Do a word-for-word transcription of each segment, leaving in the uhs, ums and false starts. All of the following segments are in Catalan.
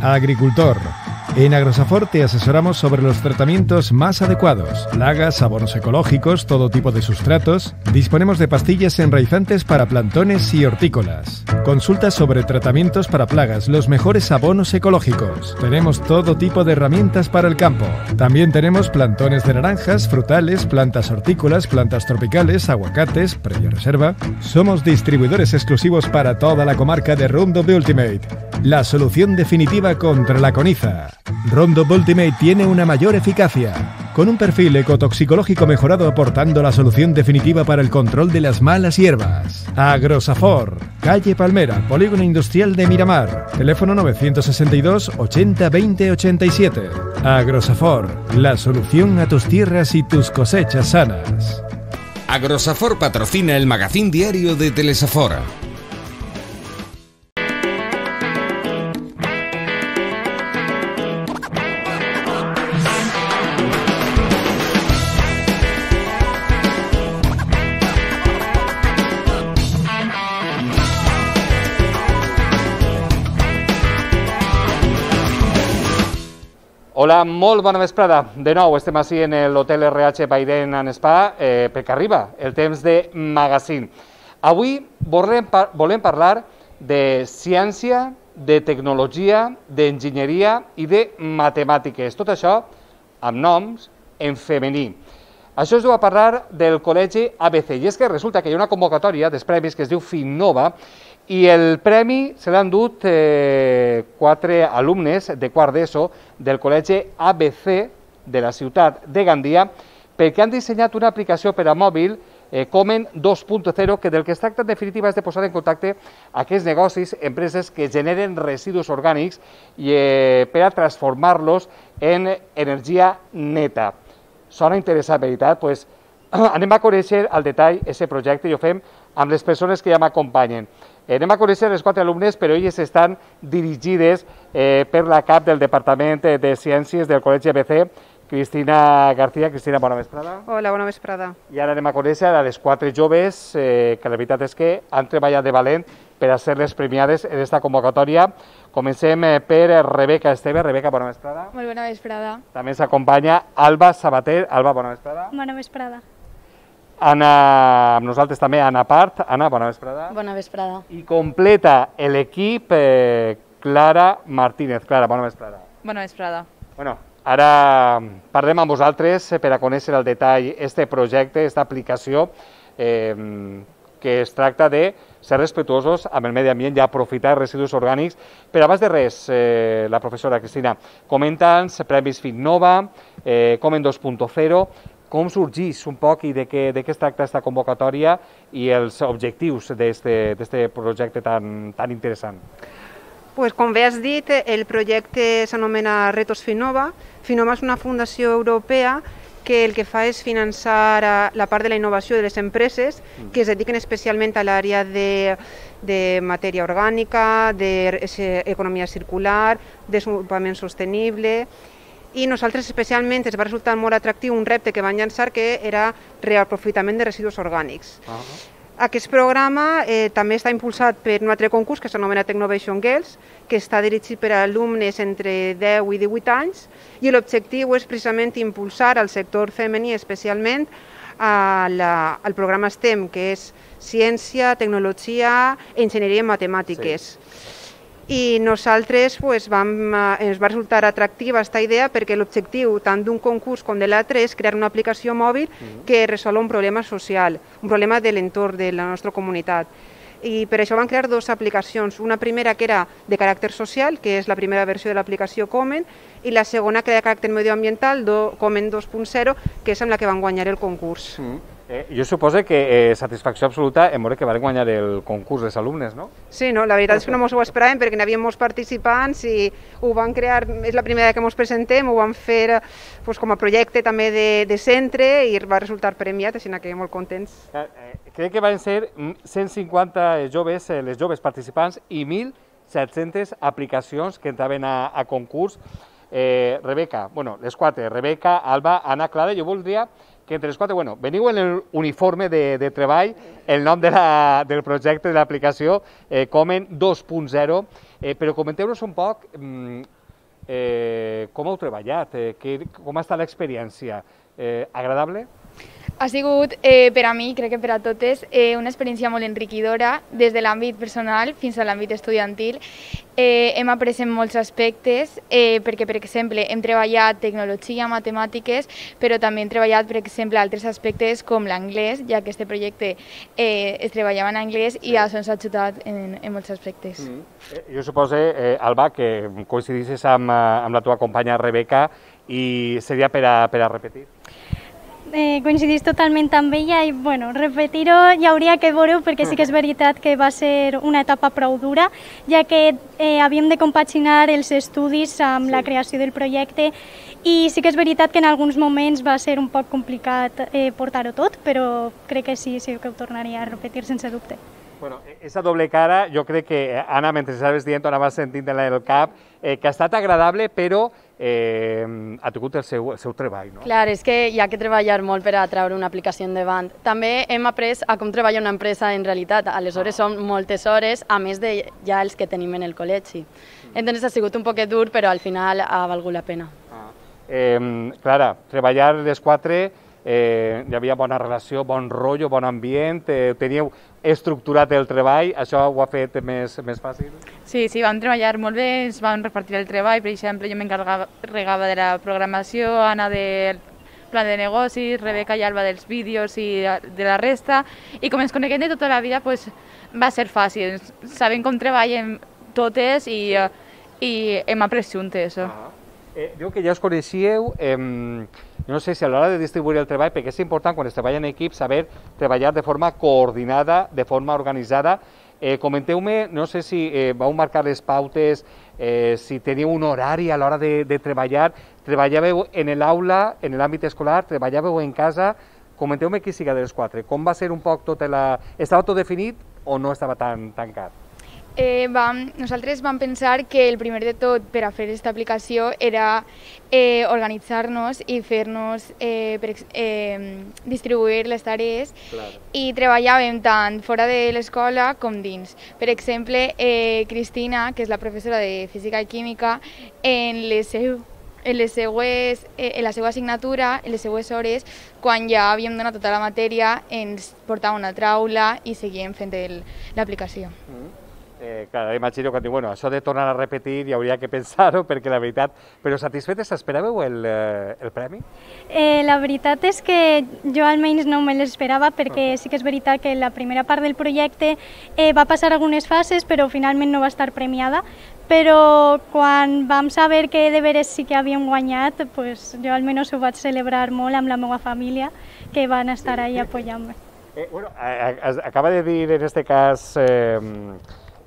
Agricultor. En Agrosafor te asesoramos sobre los tratamientos más adecuados, plagas, abonos ecológicos, todo tipo de sustratos. Disponemos de pastillas enraizantes para plantones y hortícolas. Consulta sobre tratamientos para plagas, los mejores abonos ecológicos. Tenemos todo tipo de herramientas para el campo. También tenemos plantones de naranjas, frutales, plantas hortícolas, plantas tropicales, aguacates, previa reserva. Somos distribuidores exclusivos para toda la comarca de Roundup Ultimate, la solución definitiva contra la coniza. Roundup Ultimate tiene una mayor eficacia, con un perfil ecotoxicológico mejorado aportando la solución definitiva para el control de las malas hierbas. Agrosafor, calle Palmera, Polígono Industrial de Miramar, teléfono novecientos sesenta y dos ochenta veinte ochenta y siete. Agrosafor, la solución a tus tierras y tus cosechas sanas. Agrosafor patrocina el magazín diario de Telesafor. Hola, molt bona vesprada. De nou estem així en l'Hotel R H Baiden and Spa eh, perquè arriba el temps de magazín. Avui volem, par volem parlar de ciència, de tecnologia, d'enginyeria i de matemàtiques. Tot això amb noms en femení. Això es diu a parlar del Col·legi A B C. I és que resulta que hi ha una convocatòria dels premis que es diu Finnova i el premi se l'han dut eh, quatre alumnes de quart d'ESO del Col·legi A B C de la ciutat de Gandia perquè han dissenyat una aplicació per a mòbil eh, Comen dos punt zero que del que es tracta en definitiva és de posar en contacte aquests negocis, empreses que generen residus orgànics i, eh, per a transformar-los en energia neta. Sona interessant, veritat? Pues, anem a conèixer al detall aquest projecte i ho fem amb les persones que ja m'acompanyen. Eh, anem a conèixer les quatre alumnes, però elles estan dirigides eh, per la cap del Departament de Ciències del Col·legi A B C, Cristina García. Cristina, bona vesprada. Hola, bona vesprada. I ara anem a conèixer a les quatre joves eh, que la veritat és que han treballat de valent per a ser-les premiades en aquesta convocatòria. Comencem eh, per Rebeca Esteve. Rebeca, bona vesprada. Molt bona vesprada. També s'acompanya Alba Sabater. Alba, bona vesprada. Bona vesprada. Anna, amb nosaltres també Anna Part. Anna, bona vesprada. Bona vesprada. I completa l'equip eh, Clara Martínez. Clara, bona vesprada. Bona vesprada. Bueno, ara parlem amb vosaltres per a conèixer al detall este projecte, aquesta aplicació, eh, que es tracta de ser respetuosos amb el medi ambient i aprofitar residus orgànics. Però abans de res, eh, la professora Cristina, comenta'ns premis Finnova, eh, Comen dos punt zero, com sorgeix un poc i de què, de què es tracta aquesta convocatòria i els objectius d'aquest projecte tan, tan interessant. Pues, com bé has dit, el projecte s'anomena Retos Finnova. Finnova és una fundació europea que el que fa és finançar la part de la innovació de les empreses que es dediquen especialment a l'àrea de, de matèria orgànica, d'economia circular, desenvolupament sostenible. I nosaltres especialment ens va resultar molt atractiu un repte que van llançar que era reaprofitament de residus orgànics. Uh -huh. Aquest programa eh, també està impulsat per un altre concurs que s'anomena Technovation Girls, que està dirigit per a alumnes entre deu i divuit anys i l'objectiu és precisament impulsar al sector femení especialment a la, al programa STEM, que és Ciència, Tecnologia i Enginyeria i Matemàtiques. Sí. I nosaltres pues, vam, ens va resultar atractiva aquesta idea perquè l'objectiu tant d'un concurs com de l'altre és crear una aplicació mòbil que resol un problema social, un problema de l'entorn de la nostra comunitat. I per això van crear dues aplicacions, una primera que era de caràcter social, que és la primera versió de l'aplicació Comen, i la segona que era de caràcter medioambiental, Comen dos punt zero, que és amb la que van guanyar el concurs. Mm. Eh, jo suposo que eh, satisfacció absoluta en veure que van guanyar el concurs dels alumnes, no? Sí, no, la veritat és que no ens ho esperàvem perquè n'hi havia molts participants i ho van crear, és la primera que ens presentem, ho van fer pues, com a projecte també de, de centre i va resultar premiat, així que molt contents. Eh, eh, crec que van ser cent cinquanta joves, eh, les joves participants i mil set-centes aplicacions que entraven a, a concurs. Eh, Rebeca, bueno, les quatre, Rebeca, Alba, Anna, Clara, jo voldria que entre els quatre, bueno, veniu en l'uniforme de, de treball, el nom de la, del projecte, de l'aplicació, eh, Comen dos punt zero, eh, però comenteu-nos un poc mm, eh, com heu treballat, eh, que, com ha estat l'experiència. Eh, agradable? Ha sigut, eh, per a mi, crec que per a totes, eh, una experiència molt enriquidora, des de l'àmbit personal fins a l'àmbit estudiantil. Eh, hem après en molts aspectes, eh, perquè, per exemple, hem treballat tecnologia, matemàtiques, però també hem treballat, per exemple, altres aspectes com l'anglès, ja que aquest projecte eh, es treballava en anglès i això ens ha ajudat en, en molts aspectes. Mm. Eh, jo suposo, eh, Alba, que coincidissis amb, amb la teva companya Rebeca i seria per a, per a repetir. Eh, coincidís totalment amb ella i bueno, repetir-ho hi hauria que veure perquè sí que és veritat que va ser una etapa prou dura, ja que eh, havíem de compaginar els estudis amb sí. la creació del projecte i sí que és veritat que en alguns moments va ser un poc complicat eh, portar-ho tot, però crec que sí, sí que ho tornaria a repetir sense dubte. Bueno, esa doble cara, jo crec que, Anna, mentre estaves dient, anaves sentint en el cap, eh, que ha estat agradable, però eh, ha tingut el seu, el seu treball, no? Clar, és que hi ha que treballar molt per a treure una aplicació endavant. També hem après a com treballa una empresa en realitat. Aleshores són moltes hores, a més de ja els que tenim en el col·legi. Entonces ha sigut un poquet dur, però al final ha valgut la pena. Ah. Eh, Clara, treballar les quatre, eh, hi havia bona relació, bon rotllo, bon ambient, eh, teníeu estructurat el treball, això ho ha fet més, més fàcil? Sí, sí, vam treballar molt bé, ens vam repartir el treball, per exemple, jo m'encarregava de la programació, Anna del plan de negocis, Rebeca i Alba dels vídeos i de la resta, i com ens coneguem de tota la vida, pues, va ser fàcil, sabem com treballem totes i, i hem après juntes. Ah. Eh, diu que ja us coneixíeu, eh, no sé si a l'hora de distribuir el treball, perquè és important quan es treballa en equip saber treballar de forma coordinada, de forma organitzada. Eh, Comenteu-me, no sé si eh, vau marcar les pautes, eh, si teniu un horari a l'hora de, de treballar, treballàveu en l'aula, en l'àmbit escolar, treballàveu en casa, comenteu-me qui siga dels quatre, com va ser un poc tota la... Estava tot definit o no estava tan tancat? Eh, vam, nosaltres vam pensar que el primer de tot per a fer aquesta aplicació era eh, organitzar-nos i fer-nos eh, per, eh, distribuir les tarees claro. I treballàvem tant fora de l'escola com dins. Per exemple, eh, Cristina, que és la professora de Física i Química, en les seu en, les seues, en la seva assignatura, en les seues hores, quan ja havíem donat tota la matèria, ens portava una traula i seguíem fent l'aplicació. Mm. Eh, clar, imagino que bueno, això de tornar a repetir hi hauria que pensar-ho, perquè la veritat... Però satisfetes, esperàveu el, eh, el premi? Eh, la veritat és que jo almenys no me l'esperava, perquè sí que és veritat que la primera part del projecte eh, va passar algunes fases, però finalment no va estar premiada. Però quan vam saber que de veres sí que havíem guanyat, pues, jo almenys ho vaig celebrar molt amb la meva família, que van estar ahí apoyant-me. Eh, bueno, acaba de dir en este cas... Eh,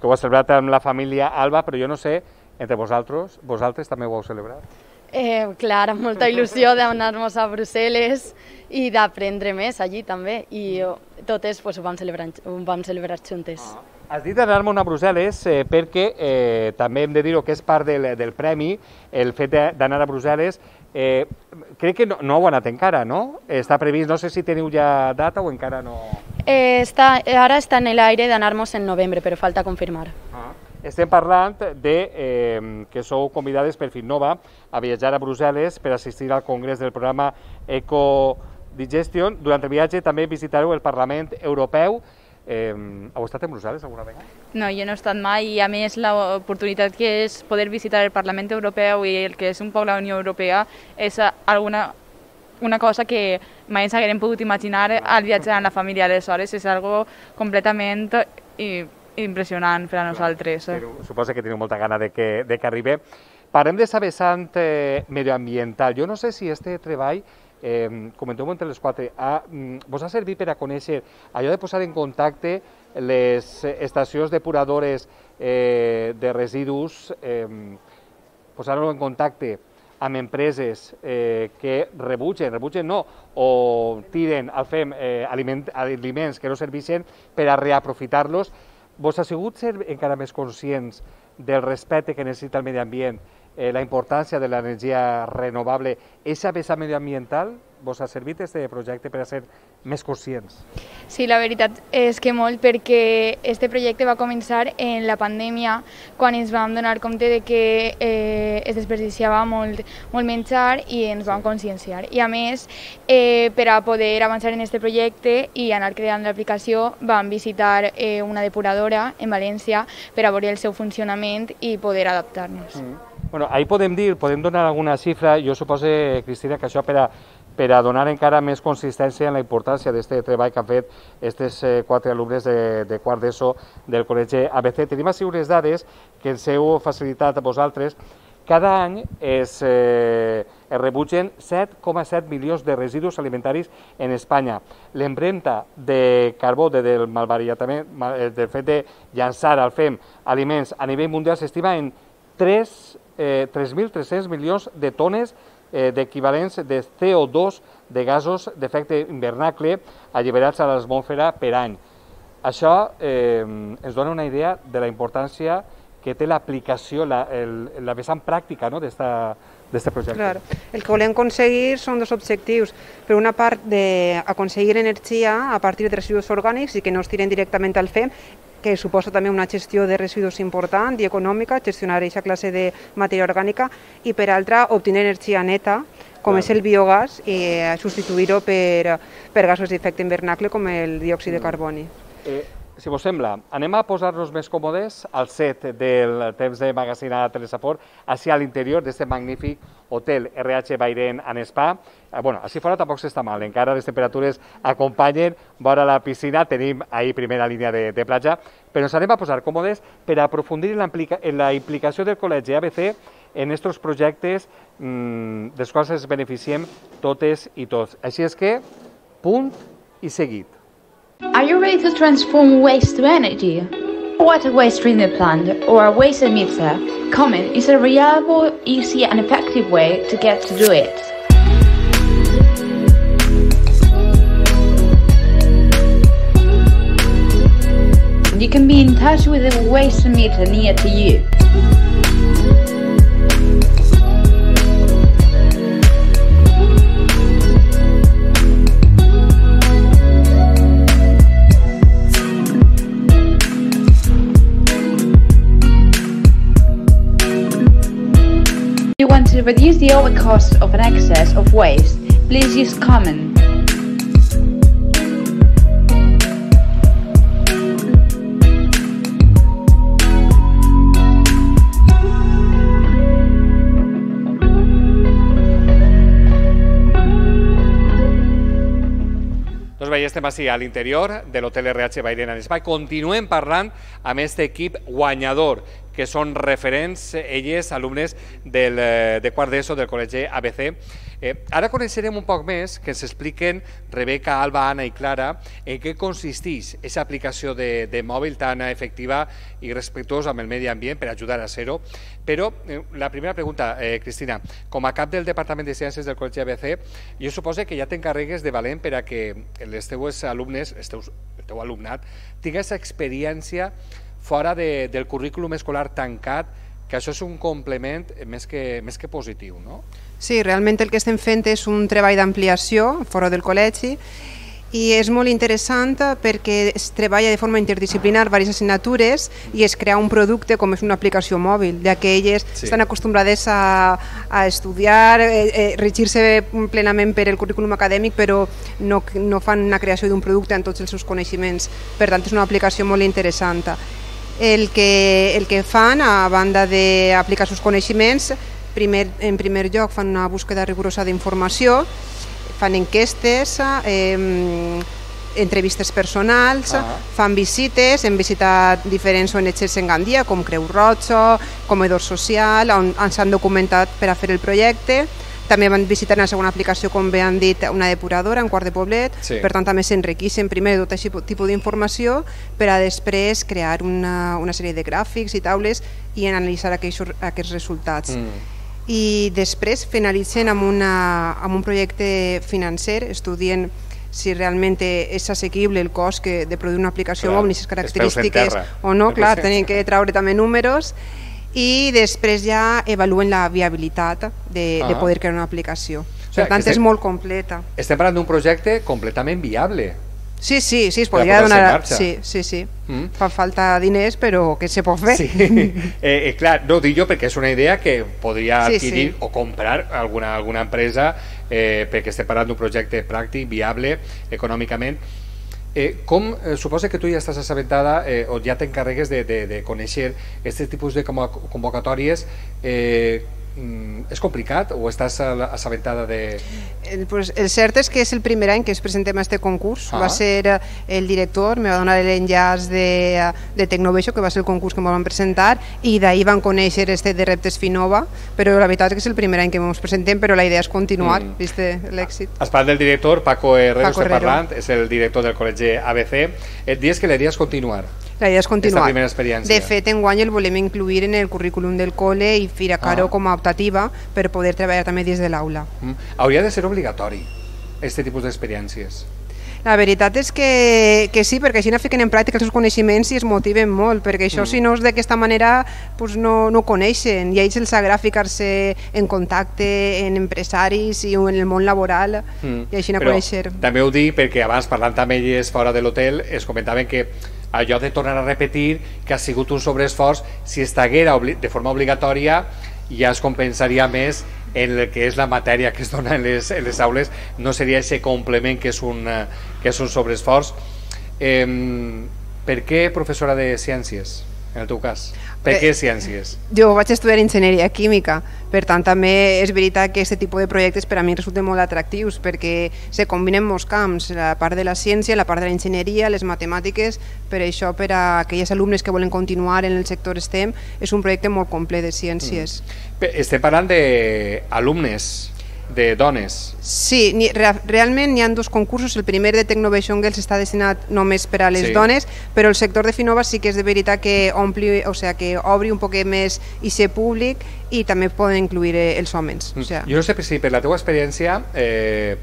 que ho ha celebrat amb la família Alba, però jo no sé, entre vosaltres, vosaltres també ho heu celebrat? Eh, clar, amb molta il·lusió d'anar-nos a Brussel·les i d'aprendre més allí també, i totes pues, ho vam celebrar, ho vam celebrar juntes. Ah. Has dit d'anar-me'n a Brussel·les eh, perquè eh, també hem de dir-ho que és part del, del premi, el fet d'anar a Brussel·les. Eh, crec que no, no heu anat encara, no? Està previst, no sé si teniu ja data o encara no... Eh, està, ara està en l'aire d'anar-nos en novembre, però falta confirmar. Ah. Estem parlant de eh, que sou convidades per Finnova a viatjar a Brussel·les per assistir al congrés del programa Eco Digestion. Durant el viatge també visitareu el Parlament Europeu. Eh, heu estat en Brussel·les alguna vegada? No, jo no he estat mai, i a més l'oportunitat que és poder visitar el Parlament Europeu i el que és un poc la Unió Europea és alguna, una cosa que mai ens haguem pogut imaginar al viatjar amb la família. Aleshores és algo completament impressionant per a nosaltres. Però suposo que teniu molta gana de que, de que arribi. Parlem de sa vessant eh, medioambiental. Jo no sé si este treball, eh, comenteu-ho entre les quatre, ha, vos ha servit per a conèixer allò de posar en contacte les estacions depuradores eh, de residus, eh, posar-ho en contacte amb empreses eh, que rebutgen, rebutgen no, o tiren al fem eh, aliment, aliments que no serveixen per a reaprofitar-los. Vos ha sigut ser encara més conscients del respecte que necessita el medi ambient eh, la importància de l'energia renovable, aquesta vessant medioambiental vos ha servit este projecte per a ser més conscients? Sí, la veritat és que molt, perquè este projecte va començar en la pandèmia, quan ens vam donar compte de que eh, es desperdiciava molt, molt menjar i ens vam conscienciar. I a més, eh, per a poder avançar en este projecte i anar creant l'aplicació, vam visitar eh, una depuradora en València per a veure el seu funcionament i poder adaptar-nos. Mm. Bueno, ahí podem dir, podem donar alguna xifra, jo suposo, Cristina, que això per a per a donar encara més consistència en la importància d'aquest treball que han fet aquests eh, quatre alumnes de, de quart d'ESO del Col·legi A B C. Tenim així unes dades que ens heu facilitat a vosaltres. Cada any es, eh, es rebutgen set coma set milions de residus alimentaris en Espanya. L'empremta de carbó de, del malbaratament, del fet de llançar al fem aliments a nivell mundial s'estima en tres mil tres-cents milions de tones d'equivalents de C O dos de gasos d'efecte hivernacle alliberats a l'atmosfera per any. Això eh, ens dona una idea de la importància que té l'aplicació, la, la vessant pràctica, no?, d'aquest projecte. Claro. El que volem aconseguir són dos objectius. Per una part, d'aconseguir energia a partir de residus orgànics i que no es tiren directament al fem, que suposa també una gestió de residus important i econòmica, gestionar aquesta classe de matèria orgànica, i per altra, obtenir energia neta, com és el biogàs, i substituir-ho per, per gasos d'efecte hivernacle com el diòxid de carboni. Eh, si vos sembla, anem a posar-nos més còmodes al set del temps de Magazine a Telesaport, així a l'interior d'aquest magnífic hotel R H Bairén and Spa. Eh, bueno, així fora tampoc s'està mal, encara les temperatures acompanyen, vora la piscina tenim ahí primera línia de, de platja, però ens anem a posar còmodes per aprofundir en la, en la implicació del Col·legi A B C en aquests projectes mmm, dels quals ens beneficiem totes i tots. Així és que, punt i seguit. Are you ready to transform waste to energy? Water waste treatment plant or a waste emitter, Common is a reliable, easy and effective way to get to do it. You can be in touch with a waste emitter near to you. If you want to reduce the overcost of an excess of waste, please use Common. Doncs bé, estem així a l'interior de l'hotel R H Bairén and Spa. Continuem parlant amb aquest equip guanyador, que són referents, elles, alumnes del, de quart d'ESO del Col·legi A B C. Eh, ara coneixerem un poc més, que ens expliquen Rebeca, Alba, Anna i Clara, en què consisteix aquesta aplicació de, de mòbil tan efectiva i respectuosa amb el medi ambient per ajudar a ser-ho. Però eh, la primera pregunta, eh, Cristina, com a cap del Departament de Ciències del Col·legi A B C, jo suposo que ja t'encarregues de valent per a que els teus alumnes, els teus, el teu alumnat, tingués experiència fora de, del currículum escolar tancat, que això és un complement més que, més que positiu, no? Sí, realment el que estem fent és un treball d'ampliació fora del col·legi i és molt interessant perquè es treballa de forma interdisciplinar diverses assignatures i es crea un producte com és una aplicació mòbil, ja que elles sí. estan acostumbrades a, a estudiar, eh, eh, regir-se plenament per el currículum acadèmic, però no, no fan una creació d'un producte en tots els seus coneixements. Per tant, és una aplicació molt interessant. El que, el que fan, a banda d'aplicar els seus coneixements, primer, en primer lloc fan una búsqueda rigorosa d'informació, fan enquestes, eh, entrevistes personals, ah. fan visites, hem visitat diferents O N Ges en Gandia, com Creu Roja, Comedor Social, on s'han documentat per a fer el projecte. També van visitar en la segona aplicació, com bé han dit, una depuradora en Quart de Poblet, sí. Per tant també s'enriqueixen primer tot aquest tipus d'informació per a després crear una, una sèrie de gràfics i taules i analitzar aquests, aquests resultats. Mm. I després finalitzen amb, una, amb un projecte financer, estudien si realment és assequible el cost que, de produir una aplicació clar, mòbil i les característiques o no, clar, tenen que treure també números i després ja evaluen la viabilitat de, Ah. de poder crear una aplicació. O sigui, Per tant, estem- és molt completa. Estem parlant d'un projecte completament viable. Sí, sí, sí, es Per a podria posar-se en donar... marxa. Sí, sí, sí. Mm. Fa falta diners, però que se pot fer. Sí, eh, eh, clar, no ho dic jo perquè és una idea que podria Sí, adquirir sí. o comprar alguna, alguna empresa eh, perquè estem parlant d'un projecte pràctic, viable, econòmicament. Eh, com, eh, suposa que tu ja estàs assabentada eh, o ja t'encarregues de, de, de conèixer aquest tipus de convo- convocatòries, eh, mm, és complicat o estàs a- assabentada de... El, pues, el cert és que és el primer any que ens presentem a este concurs. Ah. Va ser eh, el director, me va donar l'enllaç de, eh, de Tecnovation, que va ser el concurs que ens van presentar, i d'ahir van conèixer este de Reptes Finova, però la veritat és que és el primer any que ens presentem, però la idea és continuar, Mm. vist l'èxit. Has parlat del director, Paco Herrero, Paco estem Herrero. parlant, és el director del col·legi A B C. Et dius que la idea és continuar. La idea és continuar. Esta primera experiència. De fet, enguany el volem incluir en el currículum del col·le i ficar-ho Ah. com a optativa per poder treballar també des de l'aula. Mm. Hauria de ser obligatori, aquest tipus d'experiències. La veritat és que, que sí, perquè així no fiquen en pràctica els seus coneixements i es motiven molt, perquè això Mm. si no és d'aquesta manera pues no, no ho coneixen, i a ells els agrada ficar-se en contacte en empresaris i en el món laboral Mm. i així no Però conèixer. també ho dic perquè abans parlant amb elles fora de l'hotel es comentaven que allò de tornar a repetir que ha sigut un sobreesforç, si estaguera obli de forma obligatòria ja es compensaria més en el que és la matèria que es dona en les, en les aules, no seria aquest complement que és un, eh, que és un sobreesforç. Eh, per què professora de ciències, en el teu cas? Per què ciències? Jo vaig estudiar enginyeria química, per tant també és veritat que aquest tipus de projectes per a mi resulten molt atractius perquè se combinen molts camps, la part de la ciència, la part de la enginyeria, les matemàtiques, per això per a aquelles alumnes que volen continuar en el sector STEM és un projecte molt complet de ciències. Mm. Estem parlant d'alumnes, de dones. Sí, ni, re, realment hi ha dos concursos, el primer de Tecnovation Girls està destinat només per a les Sí. dones, però el sector de Finova sí que és de veritat que ompli, o sea, que obri un poquet més i ser públic i també poden incluir eh, els homes. O sea. Jo no sé si per la teva experiència eh,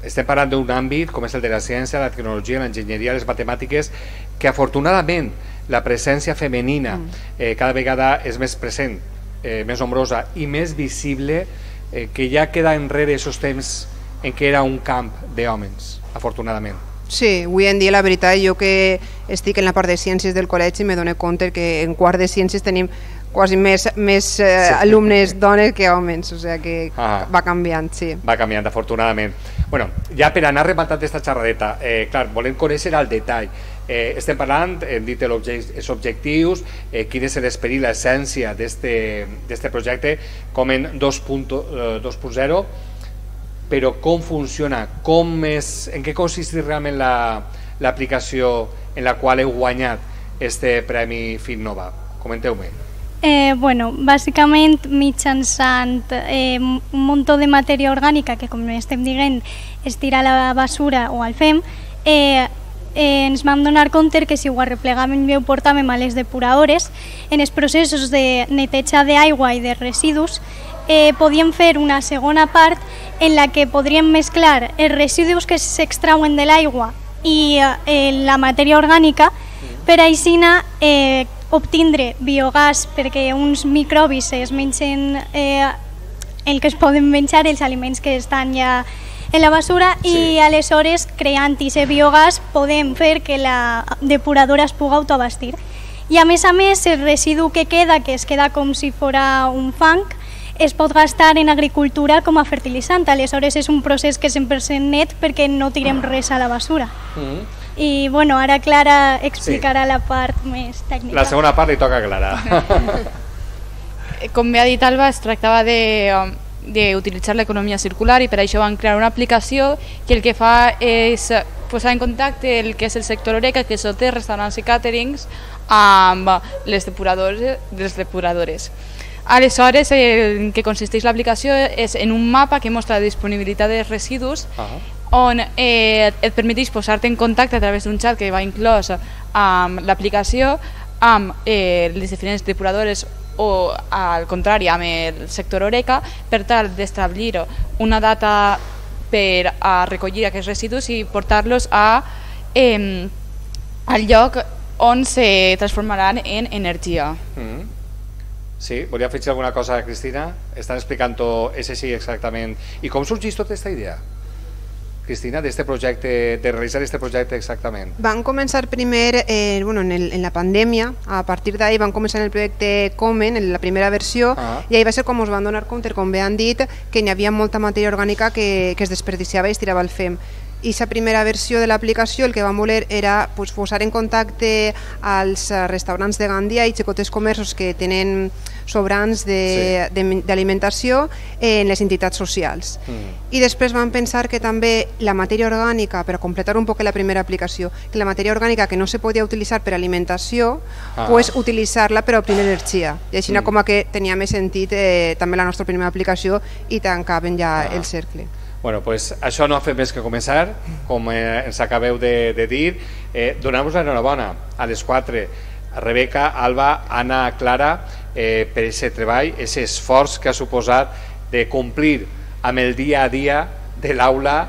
estem parlant d'un àmbit com és el de la ciència, la tecnologia, l'enginyeria, les matemàtiques, que afortunadament la presència femenina eh, cada vegada és més present, eh, més nombrosa i més visible, eh, que ja queda enrere aquests temps en què era un camp d'homes, afortunadament. Sí, avui en dia la veritat, jo que estic en la part de ciències del col·legi me dono compte que en quart de ciències tenim quasi més, més eh, Sí. alumnes dones que homes, o sea que Ah. va canviant, sí. Va canviant, afortunadament. Bueno, ja per anar rematant aquesta xerradeta, eh, clar, volem conèixer al detall. Eh, estem parlant, hem dit els objectius, eh, quin és l'esperit, l'essència d'aquest projecte, com en dos punt zero, però com funciona, com és, en què consisteix realment l'aplicació la, en la qual heu guanyat este Premi FinNova? Comenteu-me. Eh, bueno, bàsicament mitjançant eh, un munt de matèria orgànica que, com estem dient, es tira a la basura o al fem, eh, eh, ens vam donar compte que si ho arreplegàvem i ho portàvem a les depuradores, en els processos de neteja d'aigua i de residus, eh, podíem fer una segona part en la que podríem mesclar els residus que s'extrauen de l'aigua i eh, la matèria orgànica per així eh, obtindre biogàs perquè uns microbis es mengen eh, el que es poden menjar, els aliments que estan ja en la basura, sí. I aleshores creant aquest biogàs podem fer que la depuradora es pugui autoabastir. I a més a més el residu que queda, que es queda com si fora un fang, es pot gastar en agricultura com a fertilitzant, aleshores és un procés que és cent per cent net perquè no tirem res a la basura. Mm. I bueno, ara Clara explicarà sí. la part més tècnica. La segona part li toca a Clara. Com bé ha dit Alba, es tractava de, d'utilitzar l'economia circular i per això van crear una aplicació que el que fa és posar en contacte el que és el sector Oreca, que és hotels, restaurants i càterings, amb les depuradores, les depuradores. Aleshores, en què consisteix l'aplicació és en un mapa que mostra la disponibilitat de residus, uh-huh. on eh, et permeteix posar-te en contacte a través d'un xat que va inclòs amb l'aplicació, amb eh, les diferents depuradores o, al contrari, amb el sector Oreca, per tal d'establir una data per a recollir aquests residus i portar-los a, eh, al lloc on se transformaran en energia. Mm. Sí, volia afegir alguna cosa, Cristina? Estan explicant-ho, és així exactament. I com sorgeix tota aquesta idea, Cristina, d'este projecte, de realitzar aquest projecte exactament? Van començar primer eh, bueno, en, el, en la pandèmia, a partir d'ahí van començar el projecte Comen, en la primera versió, ah. i ahí va ser com us van donar compte, com bé han dit, que hi havia molta matèria orgànica que, que es desperdiciava i es tirava al fem. I la primera versió de l'aplicació el que vam voler era pues, posar en contacte als restaurants de Gandia i xicotes comerços que tenen sobrants d'alimentació sí. en les entitats socials. Mm. I després vam pensar que també la matèria orgànica, per completar un poc la primera aplicació, que la matèria orgànica que no se podia utilitzar per alimentació, ah. pues, utilitzar-la per obtenir energia. I així mm. com que tenia més sentit eh, també la nostra primera aplicació i tancaven ja ah. el cercle. Bueno, pues això no ha fet més que començar, com eh, ens acabeu de, de dir. Eh, Donem-vos l'enhorabona a les quatre, Rebeca, Alba, Anna, Clara, eh, per aquest treball, aquest esforç que ha suposat de complir amb el dia a dia de l'aula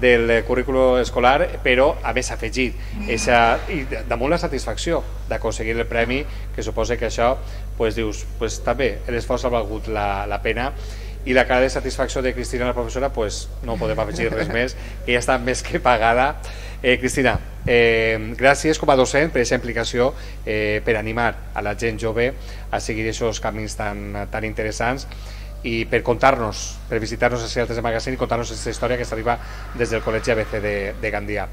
del currículum escolar, però a més afegit esa, i damunt la satisfacció d'aconseguir el premi, que suposa que això pues, dius, pues, també l'esforç ha valgut la, la pena. I la cara de satisfacció de Cristina, la professora, pues no podem afegir res més, que ja està més que pagada. Eh, Cristina, eh, gràcies com a docent per aquesta implicació, eh, per animar a la gent jove a seguir aquests camins tan, tan interessants i per contar-nos, per visitar-nos a Altes de Magazín i contar-nos aquesta història que s'arriba des del Col·legi A B C de, de Gandia.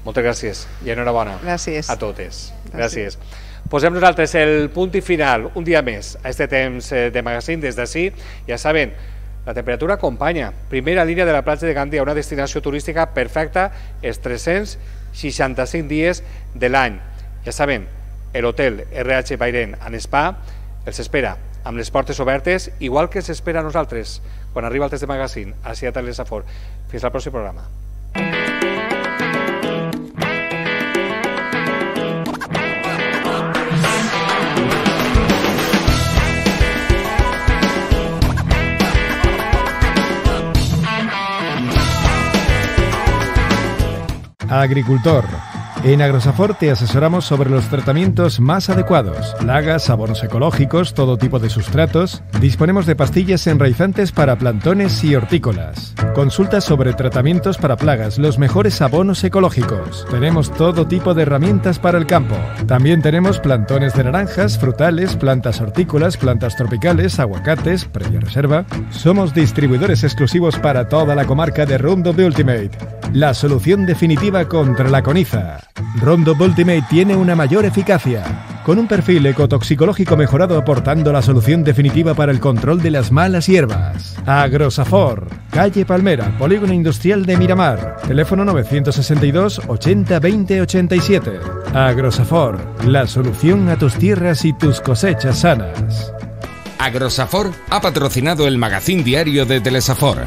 Moltes gràcies i enhorabona gràcies. A totes. Gràcies. gràcies. Posem nosaltres el punt i final, un dia més, a este temps de magazín des d'ací. Ja saben, la temperatura acompanya. Primera línia de la platja de Gandia, una destinació turística perfecta els tres-cents seixanta-cinc dies de l'any. Ja saben, l'hotel R H Bairén and Spa els espera amb les portes obertes, igual que s'espera a nosaltres quan arriba Altes de Magazín, així a Telesafor. Fins al pròxim programa. Agricultor. En Agrosafor te asesoramos sobre los tratamientos más adecuados. Plagas, abonos ecológicos, todo tipo de sustratos. Disponemos de pastillas enraizantes para plantones y hortícolas. Consulta sobre tratamientos para plagas, los mejores abonos ecológicos. Tenemos todo tipo de herramientas para el campo. También tenemos plantones de naranjas, frutales, plantas hortícolas, plantas tropicales, aguacates, previa reserva. Somos distribuidores exclusivos para toda la comarca de Roundup Ultimate, la solución definitiva contra la coniza. Roundup Ultimate tiene una mayor eficacia, con un perfil ecotoxicológico mejorado aportando la solución definitiva para el control de las malas hierbas. Agrosafor, calle Palmera, Polígono Industrial de Miramar, teléfono novecientos sesenta y dos ochenta veinte ochenta y siete. Agrosafor, la solución a tus tierras y tus cosechas sanas. Agrosafor ha patrocinado el magazín diario de Telesafor.